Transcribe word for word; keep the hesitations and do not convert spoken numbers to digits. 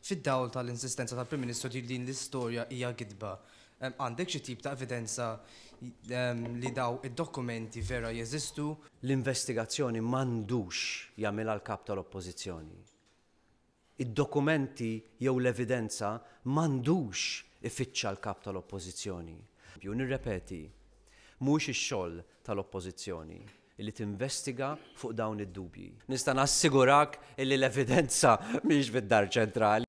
Fid-dawl tal-insistenza tal-Prim Ministru li din l-istorja hija gidba, għandek xi tip ta' evidenza li daw id-dokumenti vera jeżistu? L-investigazzjoni m'għandux jagħmilha l-kap tal-Oppożizzjoni. Id-dokumenti jew l-evidenza m'għandux ifittxa l-kap tal-Oppożizzjoni. Ju nirrepeti, mhux ix-xogħol tal-Oppożizzjoni illi tinvestiga fuq dawn id-dubji. Nista' nassigurak illi l-evidenza mhix fid-Dar Ċentrali.